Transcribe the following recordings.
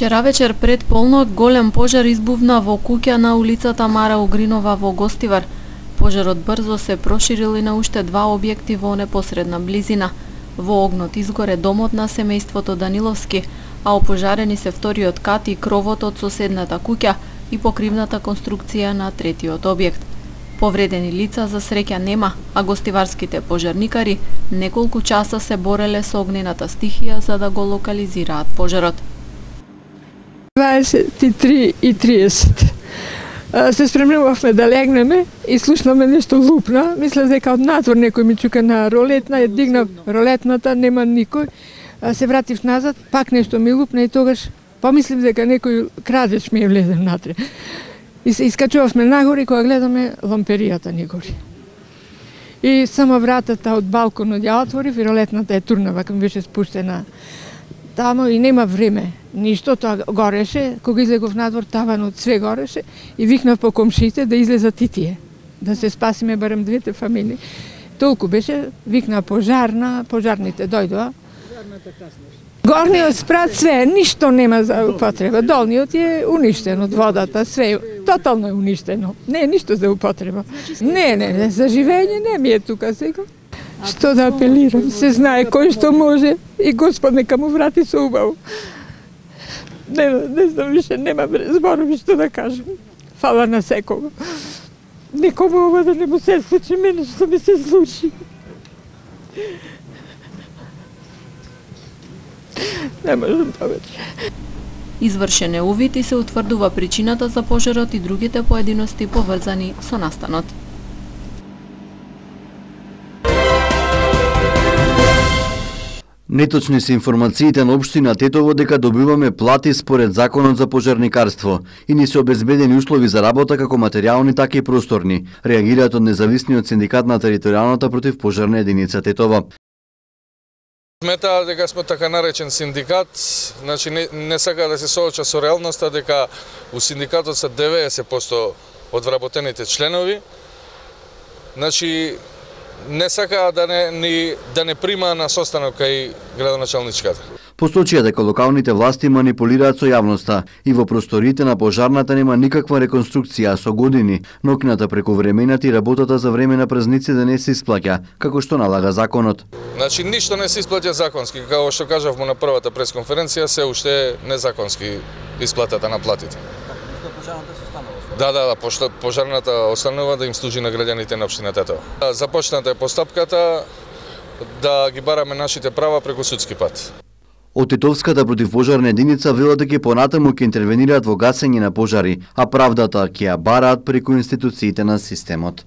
Вчера вечер пред полнок голем пожар избувна во куќа на улицата Мара Угринова во Гостивар. Пожарот брзо се проширил и на уште два објекти во непосредна близина. Во огнот изгоре домот на семејството Даниловски, а опожарени се вториот кат и кровот од соседната куќа и покривната конструкција на третиот објект. Повредени лица за среќа нема, а гостиварските пожарникари неколку часа се бореле со огнената стихија за да го локализираат пожарот. 23:30. Се спремнувавме да легнеме и слушнаме нешто лупна. Мислев дека од надвор некој ми чука на ролетна, ја дигнав ролетната, нема никој. Се вратив назад, пак нешто ми лупна и тогаш помислив дека некој крадеж ми е влезен внатре. И се искачувавме нагоре, кога гледаме ламперијата ни гори. И само вратата од балконот ја отворив и ролетната е турнава, кога беше спуштена тамо и нема време. Ништо, тоа гореше, кога излегов надвор, таванот све гореше и викнав по комшите да излезат и тие, да се спасиме барем двете фамилии. Толку беше, викна пожарна, пожарните дојдоа. Горниот спрат све, ништо нема за употреба. Долниот е уништен од водата, све тотално е уништено. Не е ништо за употреба. Не, за живење не ми е тука сега. Што да апелирам, се знае кој што може и Господ нека му врати со убаво. Не знам више, нема зборови што да кажам. Фала на секого. Никому ова да не му се случи, мене што ми се случи. Не можам повеќе. Извршен е увид и се утврдува причината за пожарот и другите поединости поврзани со настанот. Неточни се информациите на општина Тетово дека добиваме плати според законот за пожарникарство и ни се обезбедени услови за работа како материјални, така и просторни. Реагираат од независниот синдикат на територијалната противпожарна единица Тетово. Смета дека сме така наречен синдикат, значи не сака да се сооча со реалноста дека у синдикатот се 90% од вработените членови. Значи не сака да не прима на состанок кај градоначалничката. Посочија дека локалните власти манипулираат со јавноста и во просториите на пожарната нема никаква реконструкција, со години ноќната прековремената и работата за време на празници да не се исплаќа, како што налага законот. Значи ништо не се исплаќа законски, како што кажавме на првата пресконференција, се уште незаконски исплатата на платите. Да, пожарната останува да им служи на граѓаните на општина Тетово. Започната е постапката да ги бараме нашите права преку судски пат. Од Тетовската противпожарна единица велат дека понатаму ќе интервенираат во гасење на пожари, а правдата ќе ја бараат преку институциите на системот.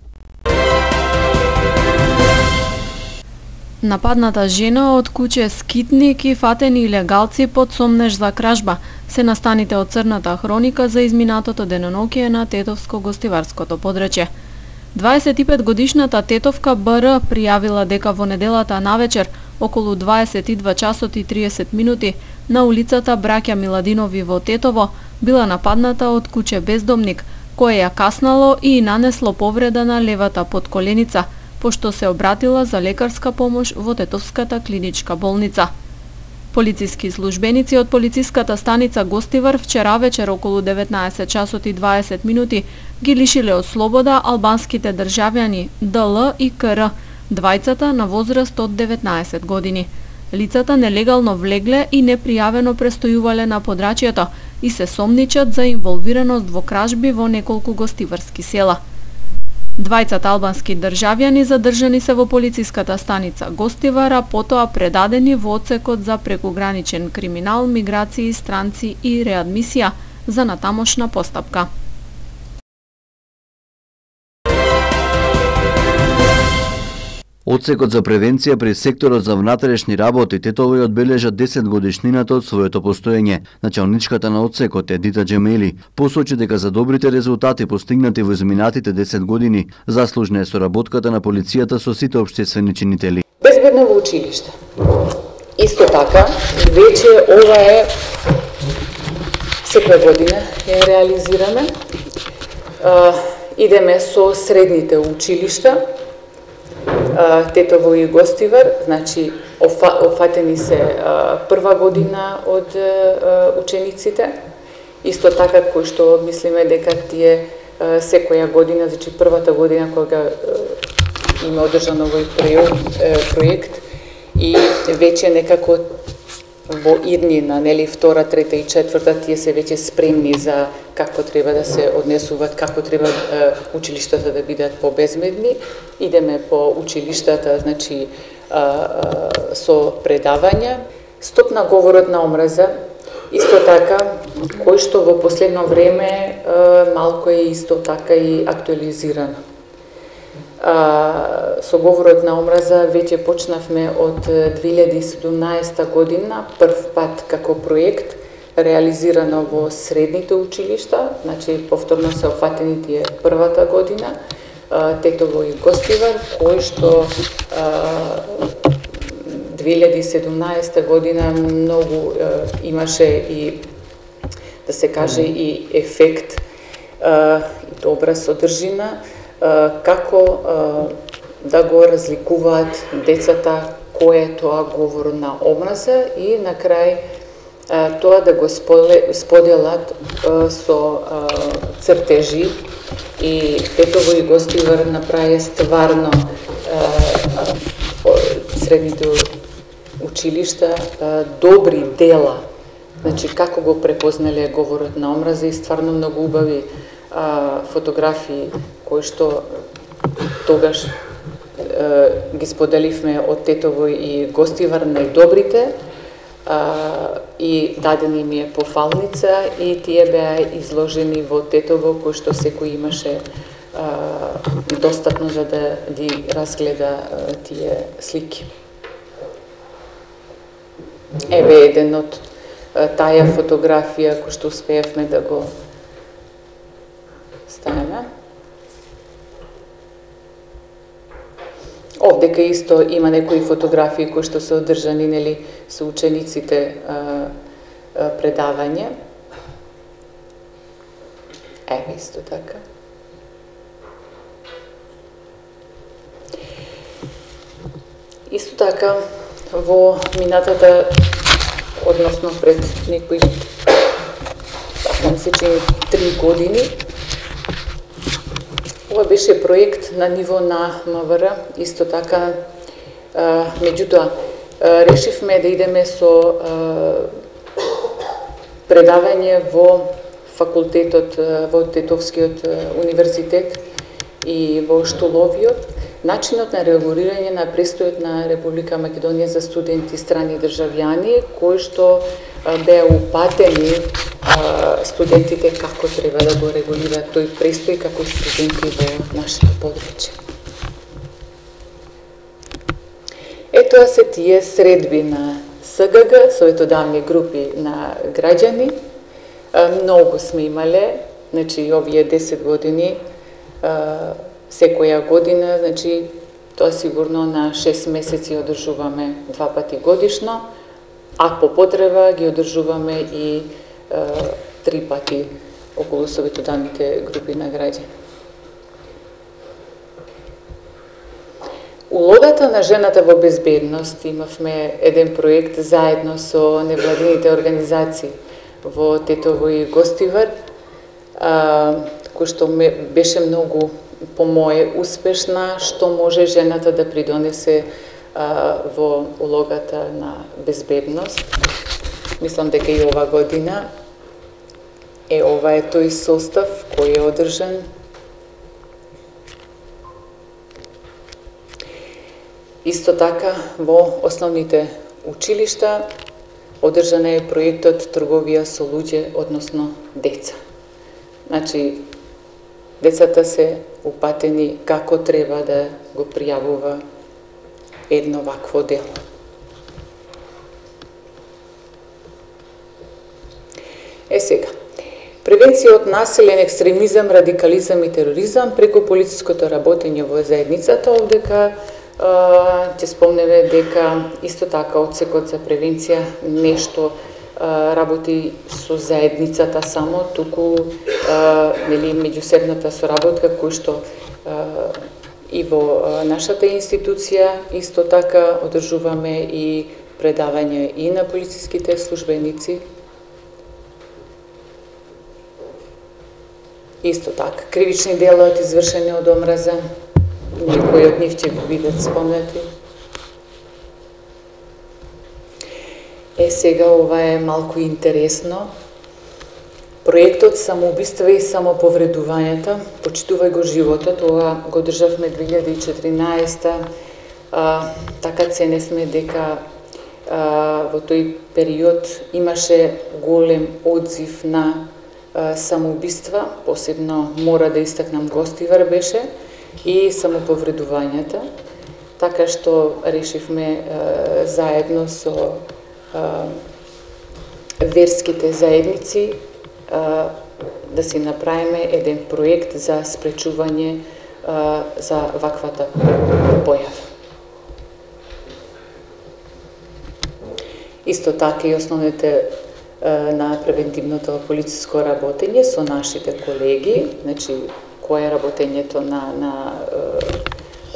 Нападната жена од куќе Скитник и фатени илегалци под сомнеж за кражба се настаните од црната хроника за изминатото деноноќие на Тетовско-гостиварското подрачје. 25-годишната Тетовка БР пријавила дека во неделата навечер околу 22 часот и 30 минути на улицата Браќа Миладинови во Тетово била нападната од куќе бездомник, кое ја каснало и нанесло повреда на левата потколеница, пошто се обратила за лекарска помош во Тетовската клиничка болница. Полициски службеници од полициската станица Гостивар вчера вечер околу 19 часот и 20 минути ги лишиле од слобода албанските државјани ДЛ и КР, двајцата на возраст од 19 години. Лицата нелегално влегле и непријавено престојувале на подрачјето и се сомничат за инволвираност во кражби во неколку гостиварски села. Двајцата албански државјани задржани се во полициската станица Гостивар, а потоа предадени во одсекот за прекуграничен криминал, миграции, странци и реадмисија за натамошна постапка. Одсекот за превенција при секторот за внатрешни работи Тетово ја одбележа 10 годишнината од своето постоење. Началничката на одсекот Едита Джемели посочи дека за добрите резултати постигнати во изминатите 10 години заслужна е соработката на полицијата со сите општествени чинители. Безбедно во училиште. Исто така, веќе ова е секоја година ја реализираме. Идеме со средните училишта Тетово и Гостивар, значи Офатени се прва година од учениците, исто така кој што мислиме дека тие секоја година, значи првата година кога има одржан овој проект и веќе некако во иднина, нели, втора, трета и четврта, тие се веќе спремни за како треба да се однесуваат, како треба училиштата да бидат побезбедни. Идеме по училиштата, значи, со предавања. Стоп на говорот на омраза, исто така, кој што во последно време малку е исто така и актуализирано. Со говорот на омраза веќе почнавме од 2017 година, прв пат како проект, реализирано во средните училишта, значи повторно се офатени тие првата година, Тетово и Гостивар, кој што 2017 година многу имаше и, да се каже, и ефект и добра содржина, како да го разликуваат децата кој е тоа говор на омраза и на крај тоа да го споделат со цртежи. И Тетово и Гостивар направи стварно средните училишта добри дела, значи како го препознале говорот на омраза и стварно многу убави фотографии кои што тогаш ги споделивме од Тетово и Гостивар, најдобрите, и дадена им е пофалница и тие беа изложени во Тетово, кој што секој имаше достатно за да ги разгледа тие слики. Еве еден од таа фотографија кој што успеавме да го ставиме. Овдека исто има некои фотографии кои што се одржани, нели, со учениците предавање. Еве исто така. Исто така во минатата, односно пред некои, така ми се чини, 3 години, ова беше проект на ниво на МВР, исто така, меѓутоа, решивме да идеме со предавање во факултетот, во Тетовскиот универзитет и во Штоловиот, начинот на регулирање на престојот на Република Македонија за студенти страни државјани, кои што беа упатени студентите како треба да го регулираат тој престој како студенти во нашето подручје. Тоа се тие средби на СГГ, советодавни групи на граѓани. Многу сме имале, значи овие 10 години, секоја година, значи тоа сигурно на 6 месеци одржуваме 2 пати годишно, а по потреба ги одржуваме и 3 пати околу советодавните групи на граѓани. Улогата на жената во безбедност, имавме еден проект заедно со невладините организации во Тетово и Гостивар, кој што беше многу, по мое, успешна, што може жената да придонесе во улогата на безбедност. Мислам дека и ова година ова е тој состав кој е одржан. Исто така во основните училишта одржан е проектот Трговија со луѓе, односно деца. Значи, децата се упатени како треба да го пријавува едно вакво дело. Сега, превенција од насилен екстремизам, радикализам и тероризам преку полициското работење во заедницата. Овдека ќе спомнеме дека исто така одсекот за превенција нешто работи со заедницата само, туку меѓусебната соработка кој што И во нашата институција исто така одржуваме и предавање и на полициските службеници. Исто така, кривични дела извршени од омраза, некои од нив ќе бидат спомнати. Сега ова е малку интересно. Проектот Самоубиства и самоповредувањата, почитувај го животот, ова го државме 2014. Така ценевме дека во тој период имаше голем одзив на самоубиства, посебно мора да истакнам Гостивар беше, и самоповредувањата, така што решивме заедно со верските заедници да си направиме еден проект за спречување за ваквата појава. Исто така и основните на превентивното полициско работење со нашите колеги, значи кое е работењето на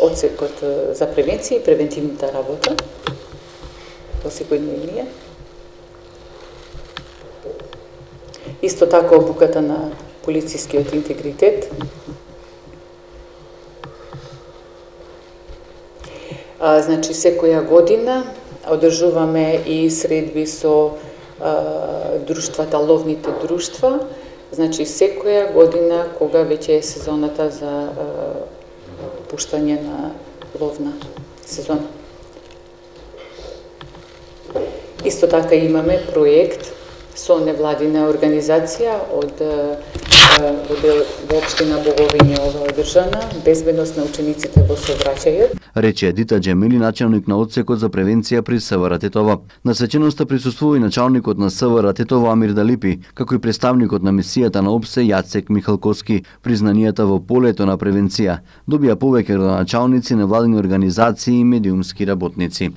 одсекот за превенција и превентивната работа во секојдневно ние. Исто така обуката на полицискиот интегритет. Значи секоја година одржуваме и средби со друштвата, ловните друштва, значи секоја година кога веќе е сезоната за пуштање на ловна сезона. Исто така имаме проект со невладина организација од во општина Боговиње ова одржана, безбедност на учениците во сообраќајот. Рече Едита Џемили, началник на одсекот за превенција при СВР Тетова. На свеченоста присуствува и началникот на СВР Тетова Амир Далипи, како и представникот на мисијата на ОПСЕ Јацек Михалковски. Признанијата во полето на превенција добија повеќе градоначалници, невладини организации и медиумски работници.